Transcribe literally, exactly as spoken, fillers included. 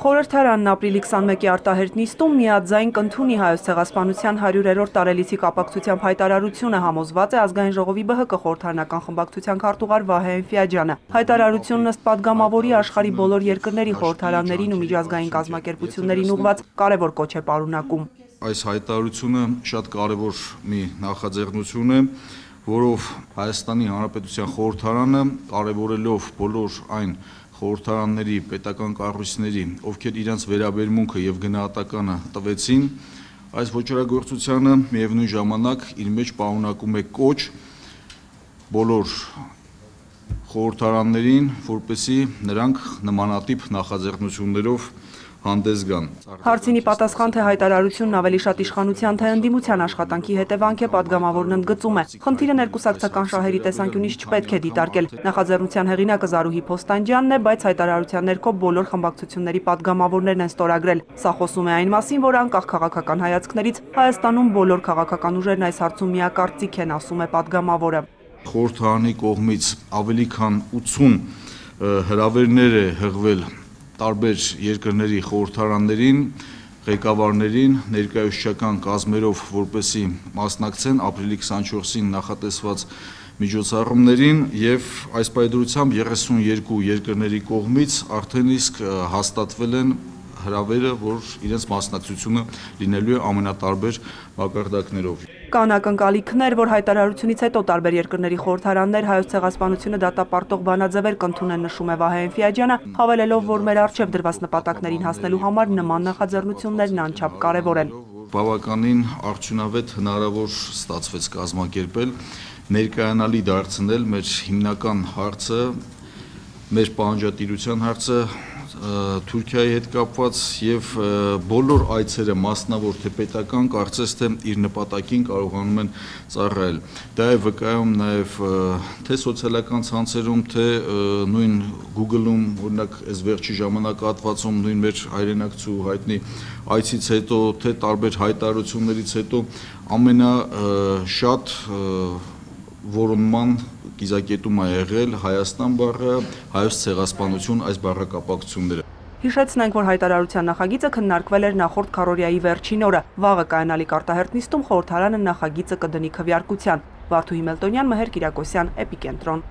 Խորհրդարանն ապրիլի քսանմեկի արտահերթ նիստում միաձայն կընդունի Հայոց ցեղասպանության հարյուրերորդ տարելիցի կապակցությամբ հայտարարությունը, համոզված է Ազգային ժողովի ԲՀԿ խորհրդարանական խմբակցության քարտուղար Վահե Էնֆիաջյանը։ Հայտարարությունն ըստ падգամավորի աշխարհի բոլոր երկրների խորհրդարաններին ու միջազգային կազմակերպություններին ուղղված կարևոր կոչ է պարունակում։ Այս հայտարարությունը շատ կարևոր մի նախաձեռնություն է, որով Հայաստանի Հանրապետության խորհրդարանը, կարևորելով բոլոր այն խորհրդարանների, պետական կառույցների, ովքեր իրենց վերաբերմունքը եւ գնահատականը տվեցին, այս ոչռագործությանը միևնույն ժամանակ իր մեջ պարունակում է կոչ բոլոր խորհրդարաններին, որպեսզի նրանք նմանատիպ նախաձեռնություններով հանդես գան։ Հարցինի պատասխան, թե հայտարարությունն ավելի շատ իշխանության, թե ընդդիմության աշխատանքի հետևանք է, падգամավորն ընդգծում է։ Խնդիրը ներկուսակցական շահերի տեսանկյունից չպետք է դիտարկել։ Նախաձեռնության հեղինակը Զարուհի Փոստանջյանն է, բայց հայտարարության ներքո բոլոր խմբակցությունների падգամավորներն են ստորագրել։ Սա խոսում է այն մասին, որ անկախ քաղաքական հայացքներից Հայաստանում բոլոր քաղաքական ուժերն այս հարցում միակարծիք են, ասում է падգամավորը։ Խորհրդարանի կողմից ավելի քան ութսուն հրավերներ է հղվել տարբեր երկրների խորհրդարաններին, ղեկավարներին, ներկայացուցչական կազմերով, որպեսզի մասնակցեն ապրիլի քսանչորսին նախատեսված միջոցառումներին եւ այս պայմանությամբ երեսունյոթ երկրների կողմից արդեն իսկ հաստատվել են հրավերը, որ իրենց մասնակցությունը լինելու է ամենատարբեր մակարդակներով։ Կան ակնկալիքներ, որ հայտարարությունից հետո տարբեր երկրների խորհրդարաններ Հայոց ցեղասպանությունը դատապարտող բանաձևեր կընդունեն, նշում է Վահե Էնֆիաջյանը, հավելելով, որ մեր առջև դրված նպատակներին հասնելու համար նման նախաձեռնություններն անչափ կարևոր են։ Բավականին արդյունավետ հնարավոր ստացվեց կազմակերպել, ներկայանալի դարձնել մեր հիմնական հարցը, մեր պահանջատիրության հարցը Թուրքիայի հետ կապված եւ բոլոր այցերը մասնավոր թե պետական կարծես թե իր նպատակին կարողանում են ծառայել։ Դա է վկայում նաեւ թե սոցիալական ցանցերում, թե նույն Google-ում, օրինակ, այս վերջի ժամանակահատվածում նույն մեր հայրենակցու հայտնի այցից հետո, թե տարբեր հայտարարություններից հետո ամենաշատ որոնման կիզակետում է եղել Հայաստան բառը, Հայոց ցեղասպանություն այս բառակապակցությունները։ Հիշեցնենք, որ հայտարարության նախագիծը քննարկվել էր նախորդ քառօրյայի վերջին օրը։ Վաղը կայանալիք արտահերթ նիստում խորհրդարանը նախագիծը կդնի քվեարկության։ Վարդուհի Մելտոնյան, Մհեր Կիրակոսյան, Էպիկենտրոն։